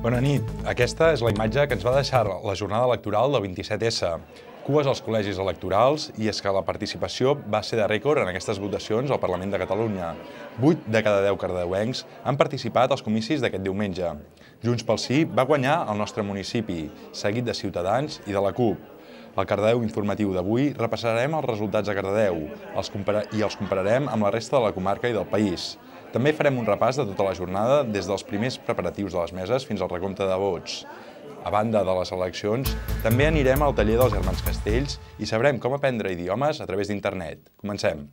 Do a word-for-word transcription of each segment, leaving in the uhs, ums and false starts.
Bona nit. Aquesta és la imatge que ens va deixar la jornada electoral del vint-i-set essa. Cues als col·legis electorals i és que la participació va ser de rècord en aquestes votacions al Parlament de Catalunya. Vuit de cada deu cardedeuencs han participat als comicis d'aquest diumenge. Junts pel Sí va guanyar al nostre municipi, seguit de Ciutadans i de la CUP. Al Cardedeu Informatiu d'avui repassarem els resultats a Cardedeu i els compararem amb la resta de la comarca i del país. També farem un repàs de tota la jornada des dels primers preparatius de les meses fins al recompte de vots. A banda de les eleccions, també anirem al taller dels germans Castells i sabrem com aprendre idiomes a través d'internet. Comencem!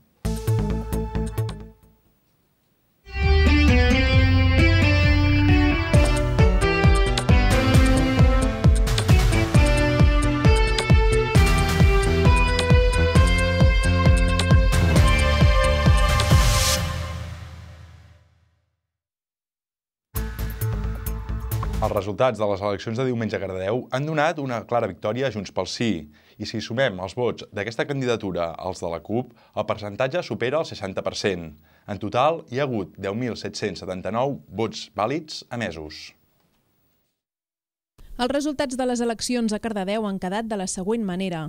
Els resultats de les eleccions de diumenge a Cardedeu han donat una clara victòria a Junts pel Sí, i si sumem els vots d'aquesta candidatura als de la CUP, el percentatge supera el seixanta per cent. En total, hi ha hagut deu mil set-cents setanta-nou vots vàlids emesos. Els resultats de les eleccions a Cardedeu han quedat de la següent manera.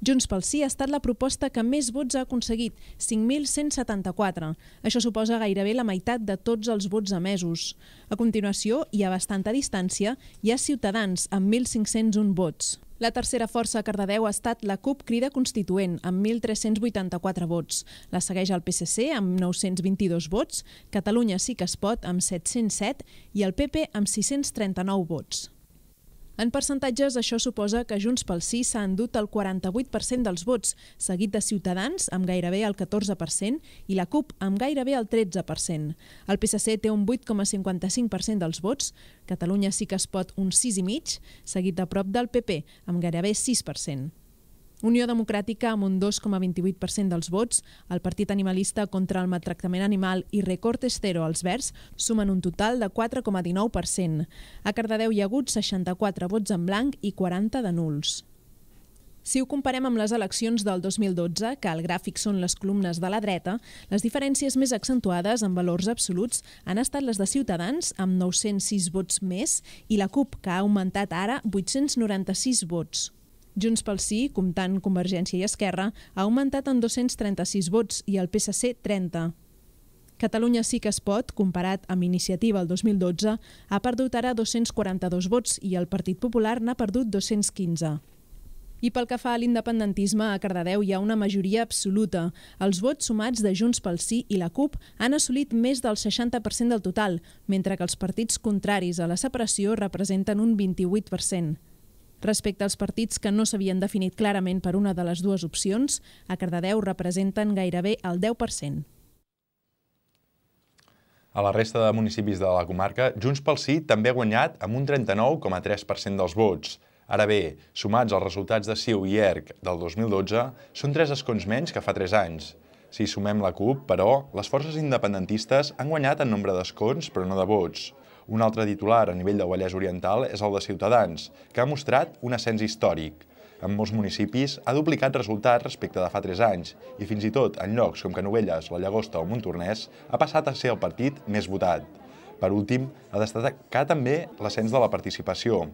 Junts pel Sí ha estat la proposta que més vots ha aconseguit, cinc mil cent setanta-quatre. Això suposa gairebé la meitat de tots els vots emesos. A continuació, i a bastanta distància, hi ha Ciutadans, amb mil cinc-cents un vots. La tercera força a Cardedeu ha estat la CUP Crida Constituent, amb mil tres-cents vuitanta-quatre vots. La segueix el P S C, amb nou-cents vint-i-dos vots, Catalunya Sí que es pot, amb set-cents set, i el P P, amb sis-cents trenta-nou vots. En percentatges, això suposa que Junts pel Sí s'ha endut el quaranta-vuit per cent dels vots, seguit de Ciutadans, amb gairebé el catorze per cent, i la CUP, amb gairebé el tretze per cent. El P S C té un vuit coma cinquanta-cinc per cent dels vots, Catalunya Sí que es pot un sis coma cinc per cent, seguit de prop del P P, amb gairebé sis per cent. Unió Democràtica, amb un dos coma vint-i-vuit per cent dels vots, el Partit Animalista contra el Maltractament Animal i Recortes Cero als Verds sumen un total de quatre coma dinou per cent. A Cardedeu hi ha hagut seixanta-quatre vots en blanc i quaranta de nuls. Si ho comparem amb les eleccions del dos mil dotze, que al gràfic són les columnes de la dreta, les diferències més accentuades en valors absoluts han estat les de Ciutadans, amb nou-cents sis vots més, i la CUP, que ha augmentat ara vuit-cents noranta-sis vots. Junts pel Sí, comptant Convergència i Esquerra, ha augmentat en dos-cents trenta-sis vots i el P S C trenta. Catalunya Sí que es pot, comparat amb Iniciativa el dos mil dotze, ha perdut ara dos-cents quaranta-dos vots i el Partit Popular n'ha perdut dos-cents quinze. I pel que fa a l'independentisme, a Cardedeu hi ha una majoria absoluta. Els vots sumats de Junts pel Sí i la CUP han assolit més del seixanta per cent del total, mentre que els partits contraris a la separació representen un vint-i-vuit per cent. Respecte als partits que no s'havien definit clarament per una de les dues opcions, a Cardedeu representen gairebé el deu per cent. A la resta de municipis de la comarca, Junts pel Sí també ha guanyat amb un trenta-nou coma tres per cent dels vots. Ara bé, sumats als resultats de C I U i E R C del dos mil dotze, són tres escons menys que fa tres anys. Si sumem la CUP, però, les forces independentistes han guanyat en nombre d'escons, però no de vots. Un altre titular a nivell del Vallès Oriental és el de Ciutadans, que ha mostrat un ascens històric. En molts municipis ha duplicat resultats respecte de fa tres anys i fins i tot en llocs com Canovelles, la Llagosta o Montornès ha passat a ser el partit més votat. Per últim, ha destacat també l'ascens de la participació.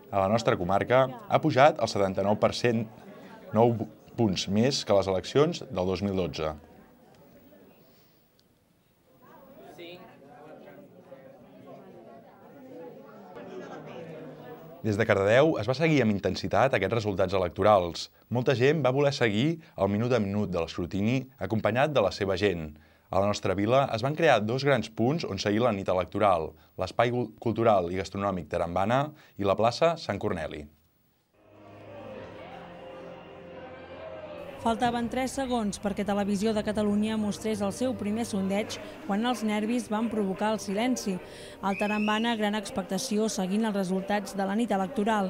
A la nostra comarca ha pujat el setanta-nou per cent, nou punts més que les eleccions del dos mil dotze. Des de Cardedeu es va seguir amb intensitat aquests resultats electorals. Molta gent va voler seguir el minut a minut de l'escrutini acompanyat de la seva gent. A la nostra vila es van crear dos grans punts on seguir la nit electoral, l'Espai Cultural i Gastronòmic Tarambana i la plaça Sant Corneli. Faltaven tres segons perquè Televisió de Catalunya mostrés el seu primer sondeig quan els nervis van provocar el silenci. Al Tarambana, gran expectació seguint els resultats de la nit electoral.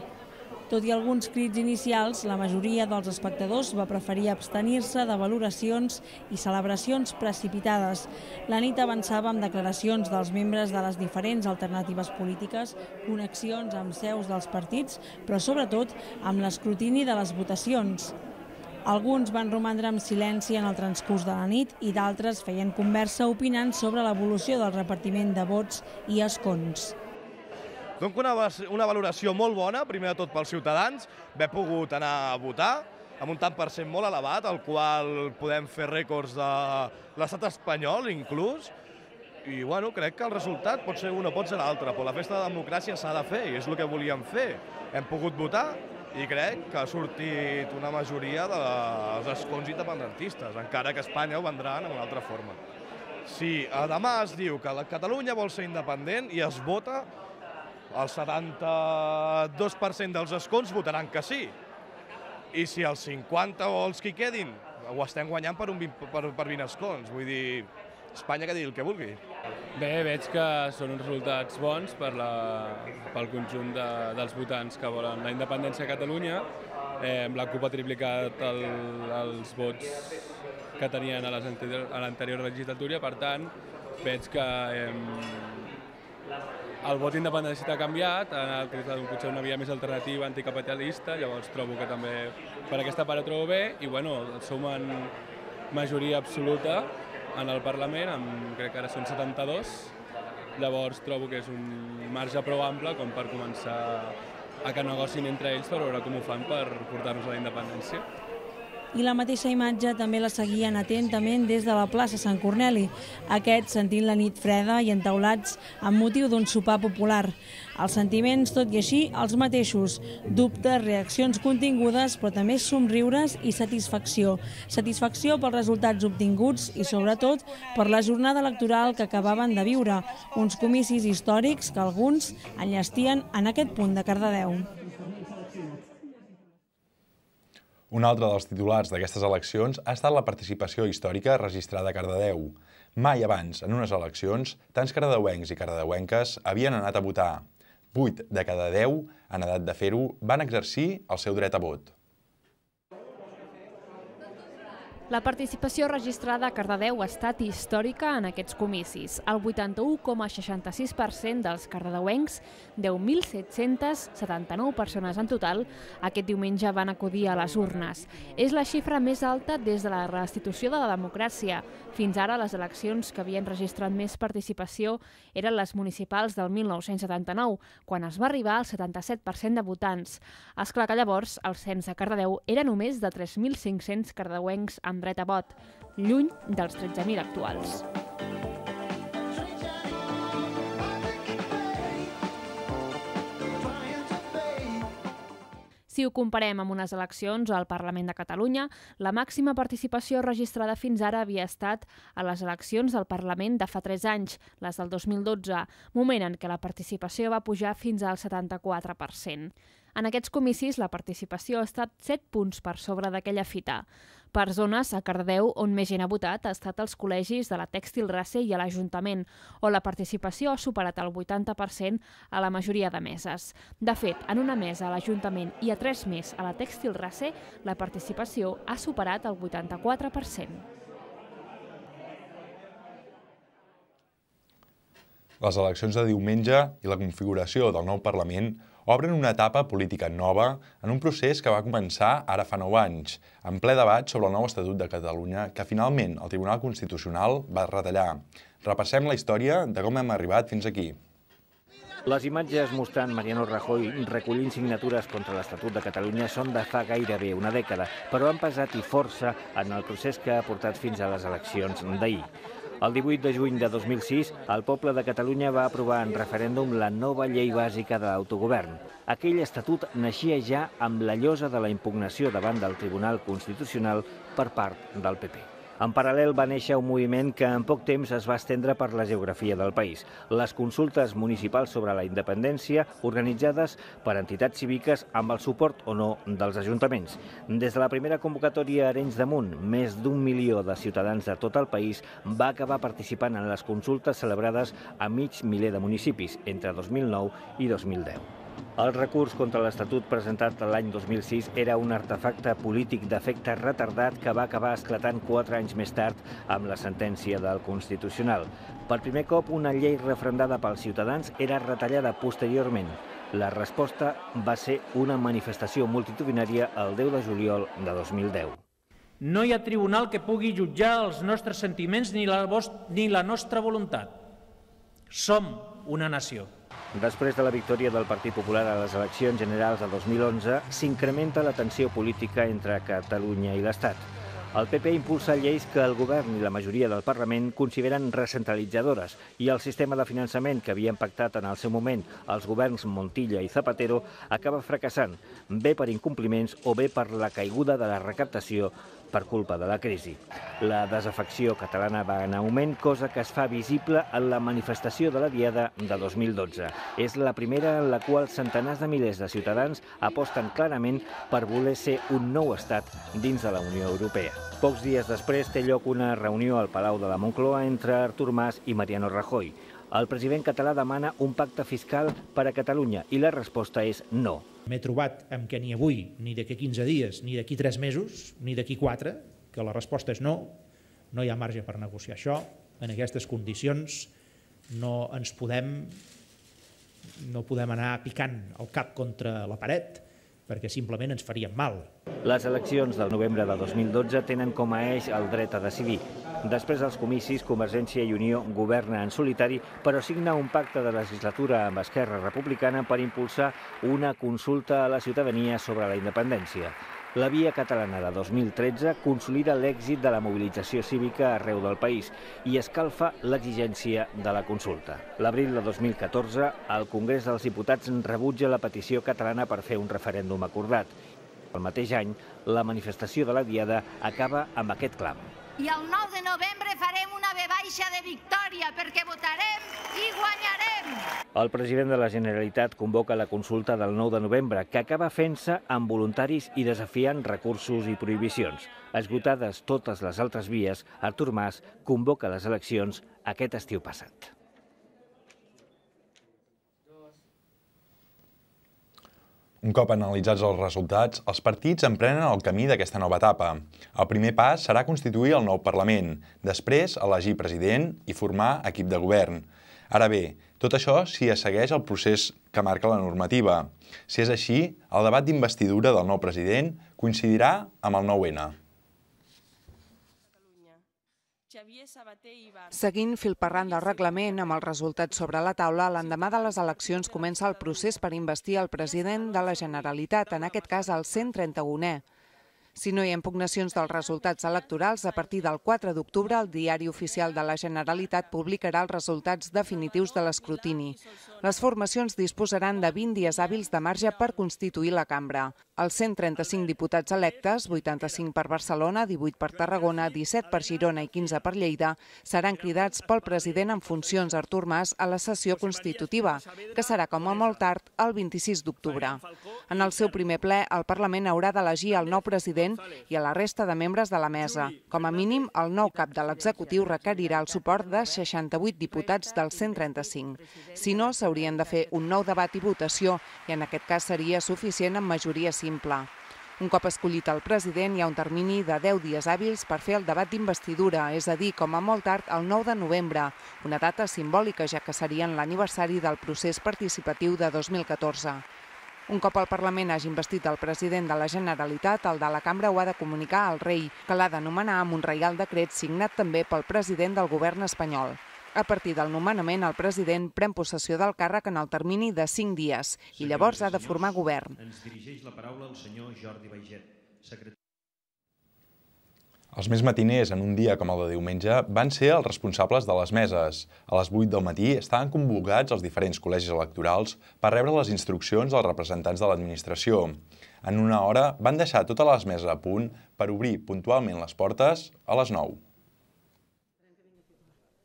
Tot i alguns crits inicials, la majoria dels espectadors va preferir abstenir-se de valoracions i celebracions precipitades. La nit avançava amb declaracions dels membres de les diferents alternatives polítiques, connexions amb seus dels partits, però sobretot amb l'escrutini de les votacions. Alguns van romandre en silenci en el transcurs de la nit i d'altres feien conversa opinant sobre l'evolució del repartiment de vots i escons. Dono una, una valoració molt bona, primer de tot pels ciutadans, haver pogut anar a votar, amb un tant per cent molt elevat, al qual podem fer rècords de l'estat espanyol, inclús, i bueno, crec que el resultat pot ser un o pot ser l'altre, però la festa de democràcia s'ha de fer, i és el que volíem fer. Hem pogut votar i crec que ha sortit una majoria dels escons independentistes, encara que Espanya ho vendran en una altra forma. Si demà es diu que Catalunya vol ser independent i es vota, el setanta-dos per cent dels escons votaran que sí. I si els cinquanta o els que hi quedin ho estem guanyant per, un vint, per, per vint escons, vull dir, Espanya que digui el que vulgui. Bé, veig que són uns resultats bons per la, pel conjunt de, dels votants que volen la independència a Catalunya. Eh, la CUP ha triplicat el, els vots que tenien a l'anterior legislatura, per tant, veig que eh, el vot independentista ha canviat, ha anat potser una via més alternativa, anticapitalista, llavors trobo que també per aquesta part ho trobo bé, i bueno, som en majoria absoluta en el Parlament, amb, crec que ara són setanta-dos, llavors trobo que és un marge prou ample com per començar a que negocin entre ells per veure com ho fan per portar-nos a la independència. I la mateixa imatge també la seguien atentament des de la plaça Sant Corneli, aquests sentint la nit freda i entaulats amb motiu d'un sopar popular. Els sentiments, tot i així, els mateixos. Dubtes, reaccions contingudes, però també somriures i satisfacció. Satisfacció pels resultats obtinguts i, sobretot, per la jornada electoral que acabaven de viure, uns comicis històrics que alguns enllestien en aquest punt de Cardedeu. Un altre dels titulars d'aquestes eleccions ha estat la participació històrica registrada a Cardedeu. Mai abans, en unes eleccions, tants cardedeuencs i cardedeuenques havien anat a votar. Vuit de cada deu, en edat de fer-ho, van exercir el seu dret a vot. La participació registrada a Cardedeu ha estat històrica en aquests comicis. El vuitanta-u coma seixanta-sis per cent dels cardedeuencs, deu mil set-cents setanta-nou persones en total, aquest diumenge van acudir a les urnes. És la xifra més alta des de la restitució de la democràcia. Fins ara, les eleccions que havien registrat més participació eren les municipals del mil nou-cents setanta-nou, quan es va arribar al setanta-set per cent de votants. És clar que llavors el cens a Cardedeu era només de tres mil cinc-cents cardedeuencs amb dret a vot, lluny dels tretze mil actuals. Si ho comparem amb unes eleccions al Parlament de Catalunya, la màxima participació registrada fins ara havia estat a les eleccions del Parlament de fa tres anys, les del dos mil dotze, moment en què la participació va pujar fins al setanta-quatre per cent. En aquests comicis, la participació ha estat set punts per sobre d'aquella fita. Per zones, a Cardedeu, on més gent ha votat, ha estat als col·legis de la Tèxtil Race i a l'Ajuntament, on la participació ha superat el vuitanta per cent a la majoria de meses. De fet, en una mesa a l'Ajuntament i a tres més a la Tèxtil Race, la participació ha superat el vuitanta-quatre per cent. Les eleccions de diumenge i la configuració del nou Parlament obren una etapa política nova en un procés que va començar ara fa nou anys, en ple debat sobre el nou Estatut de Catalunya que finalment el Tribunal Constitucional va retallar. Repassem la història de com hem arribat fins aquí. Les imatges mostrant Mariano Rajoy recollint signatures contra l'Estatut de Catalunya són de fa gairebé una dècada, però han pesat i força en el procés que ha portat fins a les eleccions d'ahir. El divuit de juny de dos mil sis, el poble de Catalunya va aprovar en referèndum la nova llei bàsica de l'autogovern. Aquell estatut naixia ja amb la llosa de la impugnació davant del Tribunal Constitucional per part del P P. En paral·lel va néixer un moviment que en poc temps es va estendre per la geografia del país. Les consultes municipals sobre la independència, organitzades per entitats cíviques amb el suport o no dels ajuntaments. Des de la primera convocatòria a Arenys de Munt, més d'un milió de ciutadans de tot el país va acabar participant en les consultes celebrades a mig miler de municipis entre dos mil nou i dos mil deu. El recurs contra l'Estatut presentat l'any dos mil sis era un artefacte polític d'efecte retardat que va acabar esclatant quatre anys més tard amb la sentència del Constitucional. Per primer cop, una llei referendada pels ciutadans era retallada posteriorment. La resposta va ser una manifestació multitudinària el deu de juliol de dos mil deu. No hi ha tribunal que pugui jutjar els nostres sentiments ni la, ni la nostra voluntat. Som una nació. Després de la victòria del Partit Popular a les eleccions generals del dos mil onze, s'incrementa la tensió política entre Catalunya i l'Estat. El P P impulsa lleis que el govern i la majoria del Parlament consideren recentralitzadores i el sistema de finançament que havien pactat en el seu moment els governs Montilla i Zapatero acaba fracassant, bé per incompliments o bé per la caiguda de la recaptació per culpa de la crisi. La desafecció catalana va en augment, cosa que es fa visible en la manifestació de la Diada de dos mil dotze. És la primera en la qual centenars de milers de ciutadans aposten clarament per voler ser un nou estat dins de la Unió Europea. Pocs dies després té lloc una reunió al Palau de la Moncloa entre Artur Mas i Mariano Rajoy. El president català demana un pacte fiscal per a Catalunya i la resposta és no. M'he trobat amb que ni avui, ni d'aquí quinze dies, ni d'aquí tres mesos, ni d'aquí quatre, que la resposta és no, no hi ha marge per negociar això. En aquestes condicions no ens podem, no podem anar picant el cap contra la paret, perquè simplement ens faríem mal. Les eleccions del novembre de dos mil dotze tenen com a eix el dret a decidir. Després dels comicis, Convergència i Unió governa en solitari, però signa un pacte de legislatura amb Esquerra Republicana per impulsar una consulta a la ciutadania sobre la independència. La Via Catalana de dos mil tretze consolida l'èxit de la mobilització cívica arreu del país i escalfa l'exigència de la consulta. L'abril de dos mil catorze, el Congrés dels Diputats rebutja la petició catalana per fer un referèndum acordat. El mateix any, la manifestació de la Diada acaba amb aquest clam. I el nou de novembre farem una ve baixa de victòria perquè votarem i guanyarem. El president de la Generalitat convoca la consulta del nou de novembre, que acaba fent-se amb voluntaris i desafiant recursos i prohibicions. Esgotades totes les altres vies, Artur Mas convoca les eleccions aquest estiu passat. Un cop analitzats els resultats, els partits emprenen el camí d'aquesta nova etapa. El primer pas serà constituir el nou Parlament, després elegir president i formar equip de govern. Ara bé, tot això si es segueix el procés que marca la normativa. Si és així, el debat d'investidura del nou president coincidirà amb el nou ene. Seguint fil per randa el reglament, amb els resultats sobre la taula, l'endemà de les eleccions comença el procés per investir el president de la Generalitat, en aquest cas el cent trenta-unè. Si no hi ha impugnacions dels resultats electorals, a partir del quatre d'octubre el Diari Oficial de la Generalitat publicarà els resultats definitius de l'escrutini. Les formacions disposaran de vint dies hàbils de marge per constituir la cambra. Els cent trenta-cinc diputats electes, vuitanta-cinc per Barcelona, divuit per Tarragona, disset per Girona i quinze per Lleida, seran cridats pel president en funcions Artur Mas a la sessió constitutiva, que serà com a molt tard el vint-i-sis d'octubre. En el seu primer ple, el Parlament haurà d'elegir el nou president i a la resta de membres de la mesa. Com a mínim, el nou cap de l'executiu requerirà el suport de seixanta-vuit diputats dels cent trenta-cinc. Si no, s'haurien de fer un nou debat i votació, i en aquest cas seria suficient amb majoria simple. Un cop escollit el president, hi ha un termini de deu dies hàbils per fer el debat d'investidura, és a dir, com a molt tard, el nou de novembre, una data simbòlica, ja que seria en l'aniversari del procés participatiu de dos mil catorze. Un cop el Parlament hagi investit el president de la Generalitat, el de la Cambra ho ha de comunicar al rei, que l'ha de nomenar amb un reial decret signat també pel president del govern espanyol. A partir del nomenament, el president pren possessió del càrrec en el termini de cinc dies i llavors ha de formar govern. Ens dirigeix la paraula el senyor Jordi Baiget, secretari. Els més matiners en un dia com el de diumenge van ser els responsables de les meses. A les vuit del matí estaven convocats els diferents col·legis electorals per rebre les instruccions dels representants de l'administració. En una hora van deixar totes les meses a punt per obrir puntualment les portes a les nou.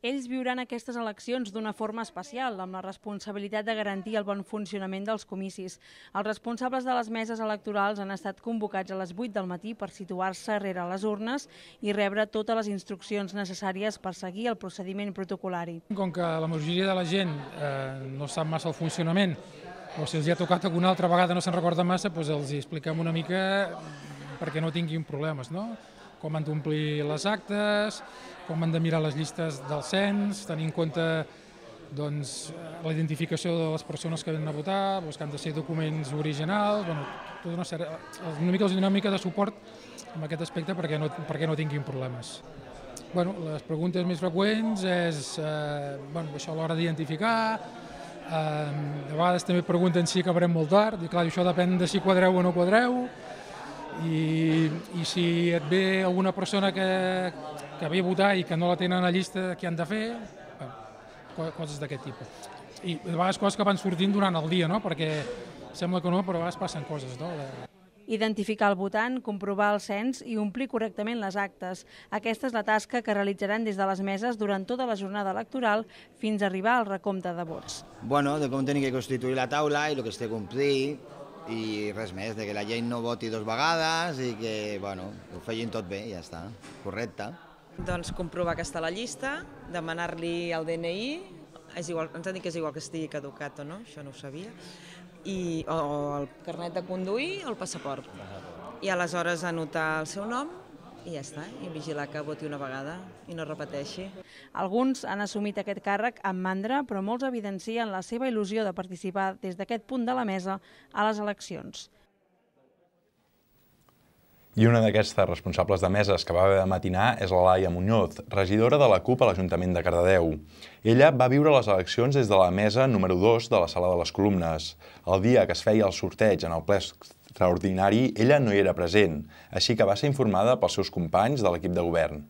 Ells viuran aquestes eleccions d'una forma especial, amb la responsabilitat de garantir el bon funcionament dels comicis. Els responsables de les meses electorals han estat convocats a les vuit del matí per situar-se rere les urnes i rebre totes les instruccions necessàries per seguir el procediment protocolari. Com que la majoria de la gent eh, no sap massa el funcionament, o si els hi ha tocat alguna altra vegada no se'n recorda massa, doncs els hi expliquem una mica perquè no tinguin problemes, no? Com han d'omplir les actes, com han de mirar les llistes del cens, tenir en compte doncs, la identificació de les persones que venen a votar, doncs, que han de ser documents originals, bueno, tota una, sèrie, una mica una mica de suport en aquest aspecte perquè no, perquè no tinguin problemes. Bueno, les preguntes més freqüents és eh, bueno, això a l'hora d'identificar, De vegades també pregunten si acabarem molt tard, i clar, això depèn de si quadreu o no quadreu, i, i si et ve alguna persona que, que ve a votar i que no la tenen a la llista, què han de fer? Bueno, coses d'aquest tipus. I de vegades coses que van sortint durant el dia, no? Perquè sembla que no, però a vegades passen coses, no? Identificar el votant, comprovar el cens i omplir correctament les actes. Aquesta és la tasca que realitzaran des de les meses durant tota la jornada electoral fins a arribar al recompte de vots. Bueno, de com tenir que constituir la taula i el que es té a complir i res més, de que la gent no voti dos vegades i que, bueno, ho feien tot bé i ja està, correcte. Doncs comprovar que està a la llista, demanar-li el D N I, és igual, ens han dit que és igual que estigui caducat o no, això no ho sabia, i, o el carnet de conduir o el passaport. I aleshores anotar el seu nom i ja està, i vigilar que voti una vegada i no repeteixi. Alguns han assumit aquest càrrec amb mandra, però molts evidencien la seva il·lusió de participar des d'aquest punt de la mesa a les eleccions. I una d'aquestes responsables de meses que va haver de matinar és la Laia Muñoz, regidora de la CUP a l'Ajuntament de Cardedeu. Ella va viure les eleccions des de la mesa número dos de la Sala de les Columnes. El dia que es feia el sorteig en el ple extraordinari, ella no hi era present, així que va ser informada pels seus companys de l'equip de govern.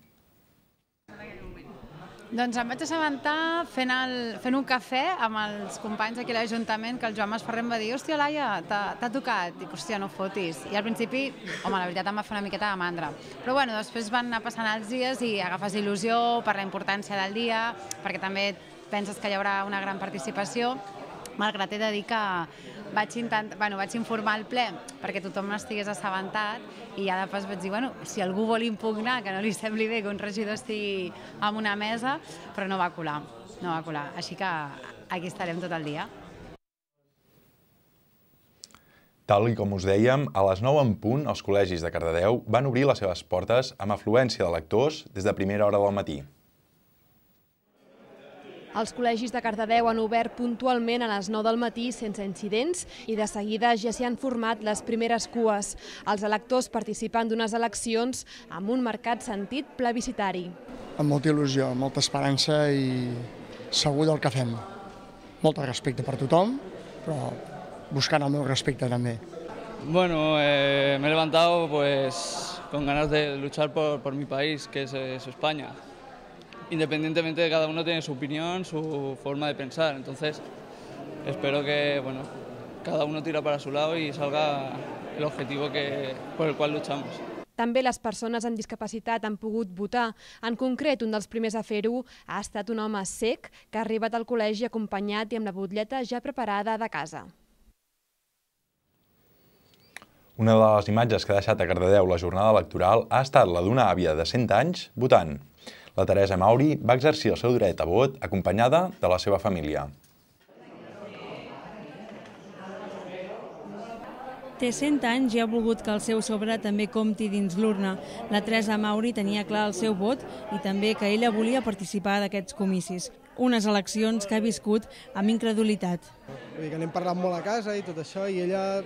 Doncs em vaig assabentar fent, el, fent un cafè amb els companys aquí a l'Ajuntament, que el Joan Mas Ferrer em va dir: hòstia, Laia, t'ha tocat? Dic, hòstia, no fotis. I al principi, home, la veritat em va fer una miqueta de mandra. Però bueno, després van anar passant els dies i agafes il·lusió per la importància del dia, perquè també penses que hi haurà una gran participació, malgrat he de dir que vaig, intent... bueno, vaig informar el ple perquè tothom estigués assabentat i ja de pas vaig dir, bueno, si algú vol impugnar, que no li sembli bé que un regidor estigui en una mesa, però no va colar, no va colar. Així que aquí estarem tot el dia. Tal com us dèiem, a les nou en punt, els col·legis de Cardedeu van obrir les seves portes amb afluència de lectors des de primera hora del matí. Els col·legis de Cardedeu han obert puntualment a les nou del matí sense incidents i de seguida ja s'hi han format les primeres cues. Els electors participant d'unes eleccions amb un marcat sentit plebiscitari. Amb molta il·lusió, amb molta esperança i segur del que fem. Molt respecte per tothom, però buscant el meu respecte també. Bueno, eh, me he levantado pues, con ganas de luchar por, por mi país, que es, es España. Independientemente de cada uno tiene su opinión, su forma de pensar, entonces espero que bueno, cada uno tira para su lado y salga el objetivo que, por el cual luchamos. També les persones amb discapacitat han pogut votar. En concret, un dels primers a fer-ho ha estat un home cec que ha arribat al col·legi acompanyat i amb la butlleta ja preparada de casa. Una de les imatges que ha deixat a Cardedeu la jornada electoral ha estat la d'una àvia de cent anys votant. La Teresa Mauri va exercir el seu dret a vot acompanyada de la seva família. Té cent anys i ha volgut que el seu sobre també compti dins l'urna. La Teresa Mauri tenia clar el seu vot i també que ella volia participar d'aquests comicis. Unes eleccions que ha viscut amb incredulitat. Vull dir que n'hem parlat molt a casa i tot això, i ella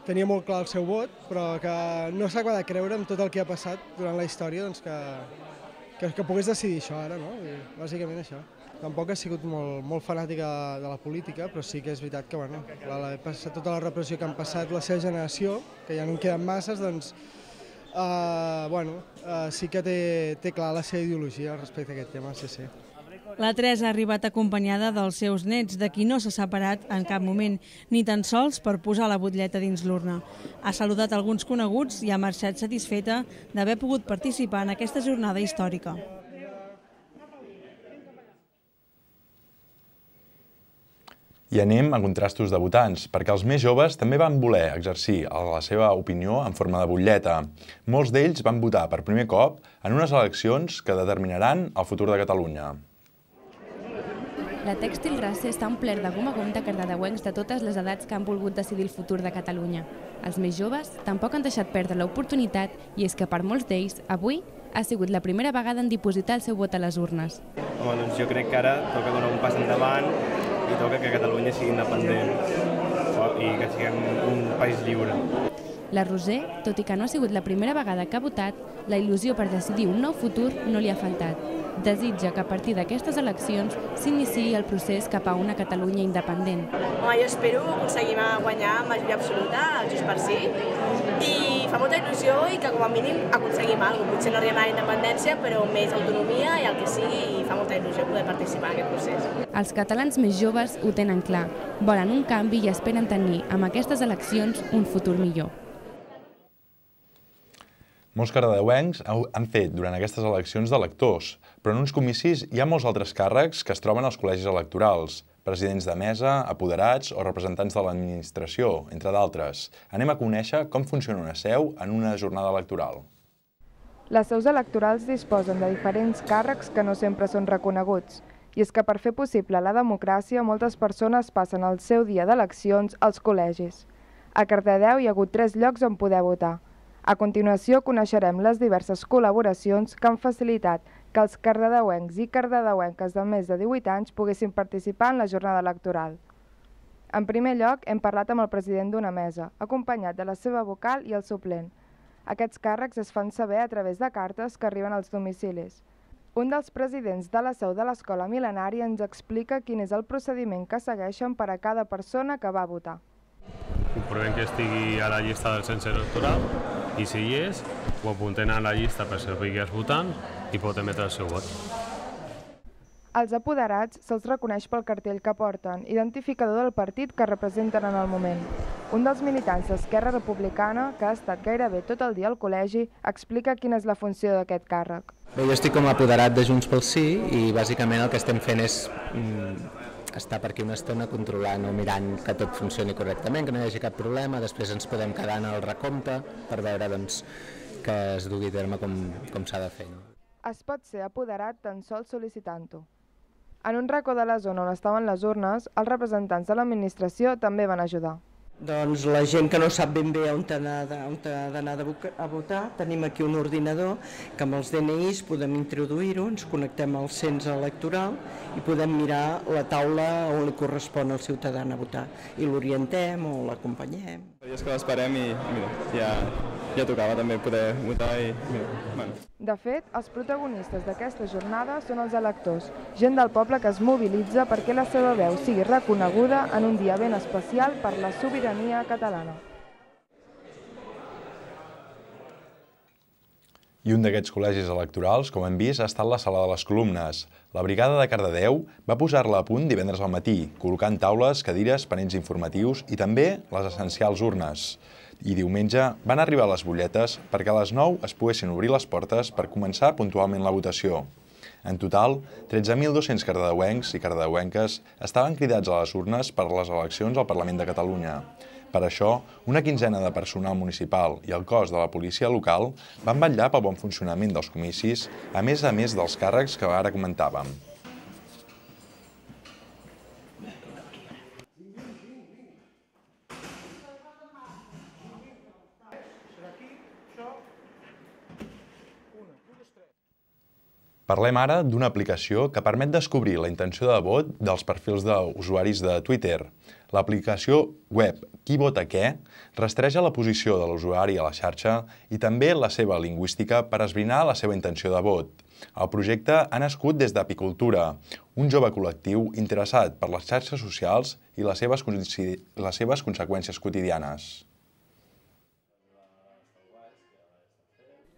tenia molt clar el seu vot, però que no s'acaba de creure amb tot el que ha passat durant la història, doncs que, que, que pogués decidir això ara, no? I bàsicament això. Tampoc he sigut molt, molt fanàtica de la política, però sí que és veritat que, bueno, la, la, tota la repressió que han passat la seva generació, que ja no en queden masses, doncs, uh, bueno, uh, sí que té, té clar la seva ideologia respecte a aquest tema, sí, sí. La Teresa ha arribat acompanyada dels seus nets, de qui no s'ha separat en cap moment, ni tan sols per posar la butlleta dins l'urna. Ha saludat alguns coneguts i ha marxat satisfeta d'haver pogut participar en aquesta jornada històrica. I anem a contrastos de votants, perquè els més joves també van voler exercir la seva opinió en forma de butlleta. Molts d'ells van votar per primer cop en unes eleccions que determinaran el futur de Catalunya. La Tèxtil Race està omplert de gom a gom de cardedeuencs de totes les edats que han volgut decidir el futur de Catalunya. Els més joves tampoc han deixat perdre l'oportunitat i és que per molts d'ells, avui, ha sigut la primera vegada en dipositar el seu vot a les urnes. Home, doncs jo crec que ara toca donar un pas endavant i toca que Catalunya sigui independent i que siguem un país lliure. La Roser, tot i que no ha sigut la primera vegada que ha votat, la il·lusió per decidir un nou futur no li ha faltat. desitja que a partir d'aquestes eleccions s'iniciï el procés cap a una Catalunya independent. Home, jo espero aconseguir guanyar majoria absoluta al Junts per Sí i fa molta il·lusió i que com a mínim aconseguim alguna cosa. Potser no arribem a la independència, però més autonomia i el que sigui, i fa molta il·lusió poder participar en aquest procés. Els catalans més joves ho tenen clar, volen un canvi i esperen tenir amb aquestes eleccions un futur millor. Molts cardedeuencs han fet durant aquestes eleccions d'electors, però en uns comicis hi ha molts altres càrrecs que es troben als col·legis electorals, presidents de mesa, apoderats o representants de l'administració, entre d'altres. Anem a conèixer com funciona una seu en una jornada electoral. Les seus electorals disposen de diferents càrrecs que no sempre són reconeguts. I és que per fer possible la democràcia, moltes persones passen el seu dia d'eleccions als col·legis. A Cardedeu hi ha hagut tres llocs on poder votar. A continuació coneixerem les diverses col·laboracions que han facilitat que els cardedeuencs i cardedeuenques de més de divuit anys poguessin participar en la jornada electoral. En primer lloc, hem parlat amb el president d'una mesa, acompanyat de la seva vocal i el suplent. Aquests càrrecs es fan saber a través de cartes que arriben als domicilis. Un dels presidents de la seu de l'Escola Mil·lenària ens explica quin és el procediment que segueixen per a cada persona que va a votar. Comprovem que estigui a la llista del cens electoral i si hi és, ho apuntem a la llista per servir que és votant i pot emetre el seu vot. Als apoderats se'ls reconeix pel cartell que porten, identificador del partit que representen en el moment. Un dels militants d'Esquerra Republicana, que ha estat gairebé tot el dia al col·legi, explica quina és la funció d'aquest càrrec. Bé, jo estic com a apoderat de Junts pel Sí i bàsicament el que estem fent és estar per aquí una estona controlant o mirant que tot funcioni correctament, que no hi hagi cap problema, després ens podem quedar en el recompte per veure que es dugui a terme com s'ha de fer. Es pot ser apoderat tan sols sol·licitant-ho. En un racó de la zona on estaven les urnes, els representants de l'administració també van ajudar. Doncs la gent que no sap ben bé on ha d'anar a votar, tenim aquí un ordinador que amb els D N Is podem introduir-ho, ens connectem al cens electoral i podem mirar la taula on li correspon al ciutadà a votar i l'orientem o l'acompanyem. És que l'esperem i mira, ja tocava també poder votar i mira, bueno. De fet, els protagonistes d'aquesta jornada són els electors, gent del poble que es mobilitza perquè la seva veu sigui reconeguda en un dia ben especial per la sobirania catalana. I un d'aquests col·legis electorals, com hem vist, ha estat la Sala de les Columnes. La Brigada de Cardedeu va posar-la a punt divendres al matí, col·locant taules, cadires, panells informatius i també les essencials urnes. I diumenge van arribar les butlletes perquè a les nou es poguessin obrir les portes per començar puntualment la votació. En total, tretze mil dos-cents cardedeuencs i cardedeuenques estaven cridats a les urnes per les eleccions al Parlament de Catalunya. Per això, una quinzena de personal municipal i el cos de la policia local van vetllar pel bon funcionament dels comicis, a més a més dels càrrecs que ara comentàvem. Parlem ara d'una aplicació que permet descobrir la intenció de vot dels perfils d'usuaris de Twitter. L'aplicació web Qui vota què rastreja la posició de l'usuari a la xarxa i també la seva lingüística per esbrinar la seva intenció de vot. El projecte ha nascut des d'Apicultura, un jove col·lectiu interessat per les xarxes socials i les seves, les seves conseqüències quotidianes.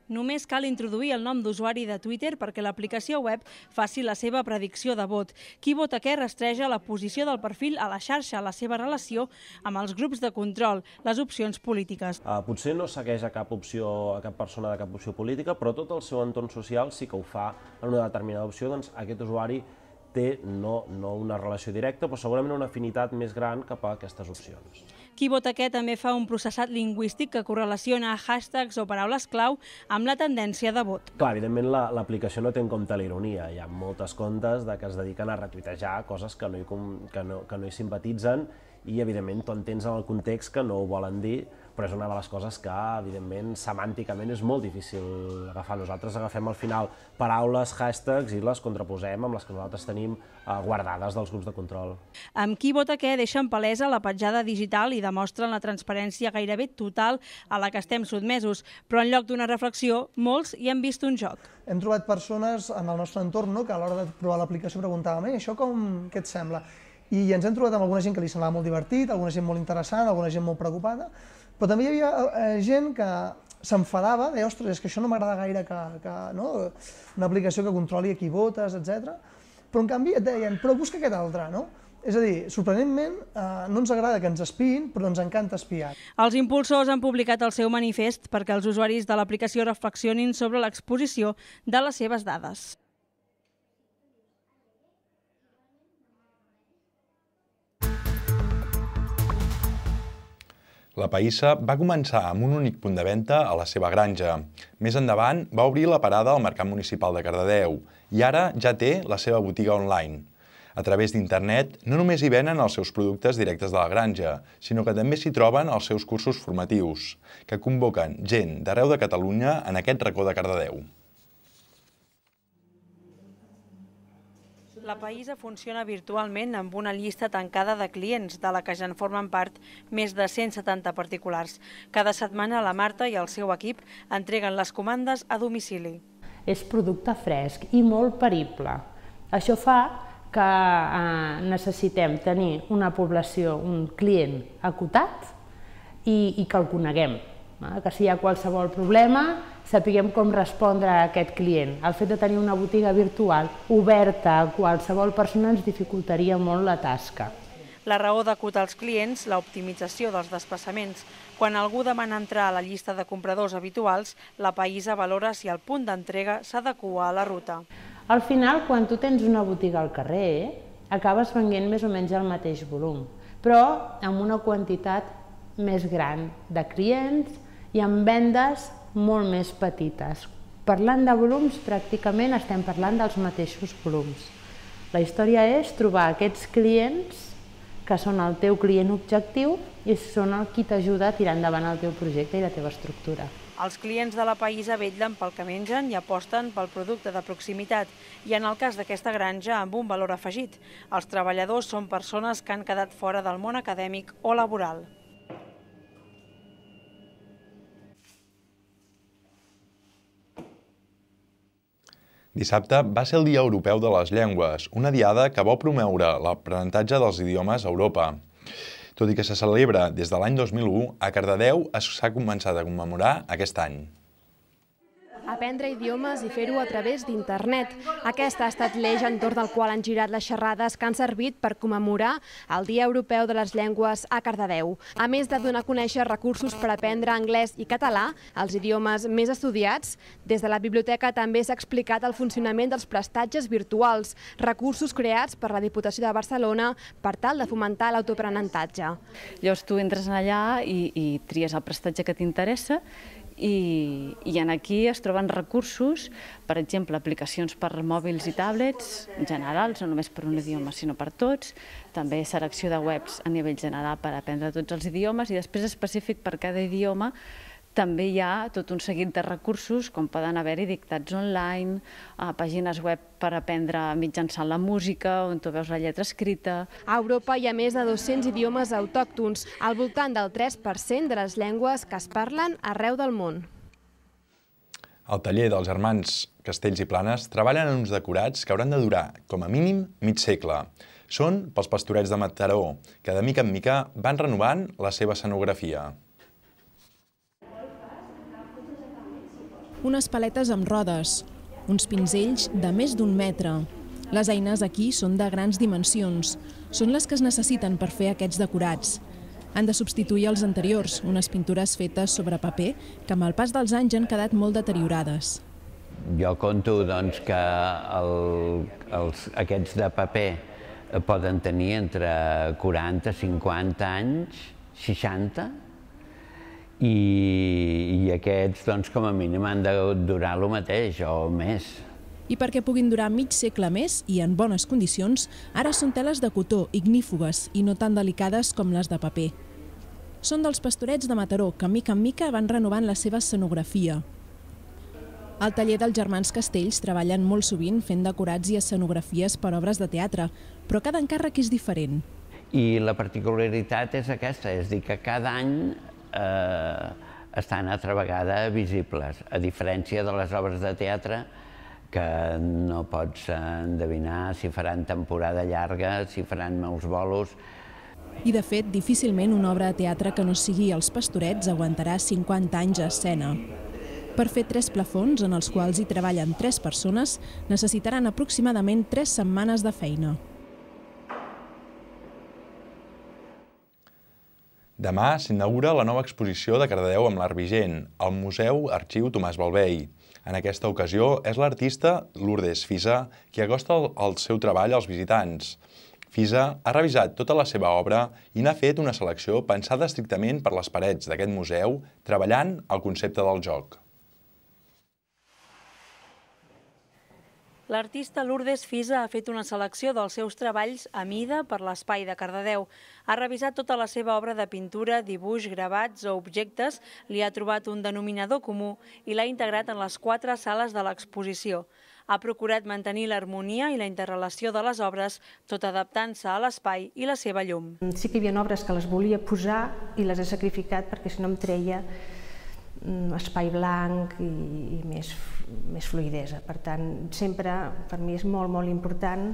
Només cal introduir el nom d'usuari de Twitter perquè l'aplicació web faci la seva predicció de vot. Qui vota què rastreja la posició del perfil a la xarxa, la seva relació amb els grups de control, les opcions polítiques. Uh, potser no segueix a cap opció, a cap persona de cap opció política, però tot el seu entorn social sí que ho fa en una determinada opció, doncs aquest usuari té no, no una relació directa, però segurament una afinitat més gran cap a aquestes opcions. Qui vota què també fa un processat lingüístic que correlaciona hashtags o paraules clau amb la tendència de vot. Clar, evidentment l'aplicació no té en compte la ironia. Hi ha moltes comptes que es dediquen a retuitejar coses que no hi, que no, que no hi simpatitzen i, evidentment, tu entens en el context que no ho volen dir, però és una de les coses que, evidentment, semànticament és molt difícil agafar. Nosaltres agafem al final paraules, hashtags, i les contraposem amb les que nosaltres tenim guardades dels grups de control. Amb qui vota què deixen palesa la petjada digital i demostren la transparència gairebé total a la que estem sotmesos, però en lloc d'una reflexió, molts hi han vist un joc. Hem trobat persones en el nostre entorn que a l'hora de provar l'aplicació preguntàvem això com, què et sembla? I ens hem trobat amb alguna gent que li semblava molt divertit, alguna gent molt interessant, alguna gent molt preocupada, però també hi havia gent que s'enfadava, deia, ostres, és que això no m'agrada gaire, que una aplicació que controli a qui votes, etcètera. Però en canvi et deien, però busca aquest altre, no? És a dir, sorprenentment, no ens agrada que ens espiïn, però ens encanta espiar. Els impulsors han publicat el seu manifest perquè els usuaris de l'aplicació reflexionin sobre l'exposició de les seves dades. La Païssa va començar amb un únic punt de venda a la seva granja. Més endavant va obrir la parada al Mercat Municipal de Cardedeu i ara ja té la seva botiga online. A través d'internet no només hi venen els seus productes directes de la granja, sinó que també s'hi troben els seus cursos formatius, que convoquen gent d'arreu de Catalunya en aquest racó de Cardedeu. La Païssa funciona virtualment amb una llista tancada de clients, de la que ja en formen part més de cent setanta particulars. Cada setmana la Marta i el seu equip entreguen les comandes a domicili. És producte fresc i molt perible. Això fa que necessitem tenir una població, un client acotat i que el coneguem. Que si hi ha qualsevol problema, sapiguem com respondre a aquest client. El fet de tenir una botiga virtual oberta a qualsevol persona ens dificultaria molt la tasca. La raó d'acotar els clients, l'optimització dels desplaçaments. Quan algú demana entrar a la llista de compradors habituals, la Païssa valora si el punt d'entrega s'adequa a la ruta. Al final, quan tu tens una botiga al carrer, acabes venent més o menys el mateix volum, però amb una quantitat més gran de clients i amb vendes molt més petites. Parlant de volums, pràcticament estem parlant dels mateixos volums. La història és trobar aquests clients que són el teu client objectiu i són el qui t'ajuda a tirar endavant el teu projecte i la teva estructura. Els clients de la Païssa vetllen pel que mengen i aposten pel producte de proximitat i en el cas d'aquesta granja amb un valor afegit. Els treballadors són persones que han quedat fora del món acadèmic o laboral. Dissabte va ser el Dia Europeu de les Llengües, una diada que vol promoure l'aprenentatge dels idiomes a Europa. Tot i que se celebra des de l'any dos mil u, a Cardedeu s'ha començat a commemorar aquest any. Aprendre idiomes i fer-ho a través d'internet. Aquest ha estat l'eix entorn del qual han girat les xerrades que han servit per commemorar el Dia Europeu de les Llengües a Cardedeu. A més de donar a conèixer recursos per aprendre anglès i català, els idiomes més estudiats, des de la biblioteca també s'ha explicat el funcionament dels prestatges virtuals, recursos creats per la Diputació de Barcelona per tal de fomentar l'autoaprenentatge. Llavors tu entres allà i, i tries el prestatge que t'interessa I, i en aquí es troben recursos, per exemple, aplicacions per mòbils i tablets generals, no només per un idioma, sinó per tots, també selecció de webs a nivell general per aprendre tots els idiomes i després específic per cada idioma també hi ha tot un seguit de recursos, com poden haver-hi dictats online, pàgines web per aprendre mitjançant la música, on tu veus la lletra escrita. A Europa hi ha més de dos-cents idiomes autòctons, al voltant del tres per cent de les llengües que es parlen arreu del món. Al taller dels germans Castells i Planes treballen en uns decorats que hauran de durar, com a mínim, mig segle. Són pels pastorets de Mataró, que de mica en mica van renovant la seva escenografia. Unes paletes amb rodes, uns pinzells de més d'un metre. Les eines aquí són de grans dimensions. Són les que es necessiten per fer aquests decorats. Han de substituir els anteriors, unes pintures fetes sobre paper que amb el pas dels anys han quedat molt deteriorades. Jo conto doncs, que el, els, aquests de paper poden tenir entre quaranta i cinquanta anys, seixanta, i, i aquests, doncs, com a mínim, han de durar el mateix o més. I perquè puguin durar mig segle més i en bones condicions, ara són teles de cotó ignífugues i no tan delicades com les de paper. són dels Pastorets de Mataró, que mica en mica van renovant la seva escenografia. Al taller dels germans Castells treballen molt sovint fent decorats i escenografies per obres de teatre, però cada encàrrec és diferent. I la particularitat és aquesta, és dir, que cada any eh, estan altra vegada visibles, a diferència de les obres de teatre, que no pots endevinar si faran temporada llarga, si faran molts bolos. I, de fet, difícilment una obra de teatre que no sigui Els Pastorets aguantarà cinquanta anys a escena. Per fer tres plafons, en els quals hi treballen tres persones, necessitaran aproximadament tres setmanes de feina. Demà s'inaugura la nova exposició de Cardedeu amb l'art vigent, al Museu Arxiu Tomàs Balvei. En aquesta ocasió és l'artista Lourdes Fisa qui acosta el seu treball als visitants. Fisa ha revisat tota la seva obra i n'ha fet una selecció pensada estrictament per les parets d'aquest museu, treballant el concepte del joc. L'artista Lourdes Fisa ha fet una selecció dels seus treballs a mida per l'espai de Cardedeu. Ha revisat tota la seva obra de pintura, dibuix, gravats o objectes, li ha trobat un denominador comú i l'ha integrat en les quatre sales de l'exposició. Ha procurat mantenir l'harmonia i la interrelació de les obres, tot adaptant-se a l'espai i la seva llum. Sí que hi havia obres que les volia posar i les he sacrificat perquè si no em treia espai blanc i més, més fluïdesa. Per tant, sempre per mi és molt, molt important,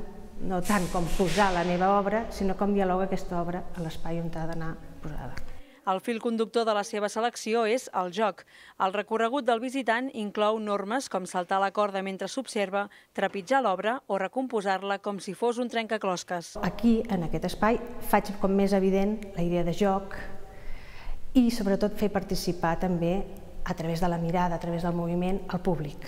no tant com posar la meva obra, sinó com dialoga aquesta obra a l'espai on ha d'anar posada. El fil conductor de la seva selecció és el joc. El recorregut del visitant inclou normes com saltar la corda mentre s'observa, trepitjar l'obra o recomposar-la com si fos un trencaclosques. Aquí, en aquest espai, faig com més evident la idea de joc i sobretot fer participar també a través de la mirada, a través del moviment, al públic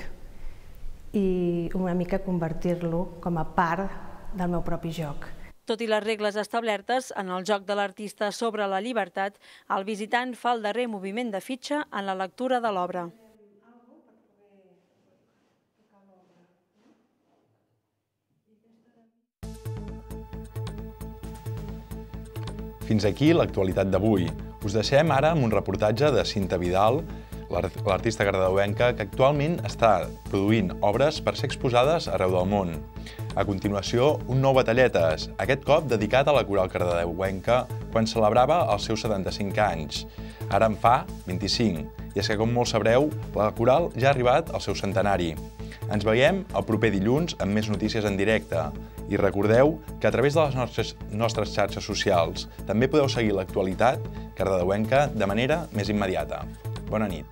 i una mica convertir-lo com a part del meu propi joc. Tot i les regles establertes en el joc de l'artista sobre la llibertat, el visitant fa el darrer moviment de fitxa en la lectura de l'obra. Fins aquí l'actualitat d'avui. Us deixem ara amb un reportatge de Cinta Vidal, l'artista cardedeuenca que actualment està produint obres per ser exposades arreu del món. A continuació, un nou Batalletes, aquest cop dedicat a la coral cardedeuenca quan celebrava els seus setanta-cinc anys. Ara en fa vint-i-cinc, i és que, com molts sabreu, la coral ja ha arribat al seu centenari. Ens veiem el proper dilluns amb més notícies en directe. I recordeu que a través de les nostres, nostres xarxes socials també podeu seguir l'actualitat cardedeuenca de manera més immediata. Bona nit.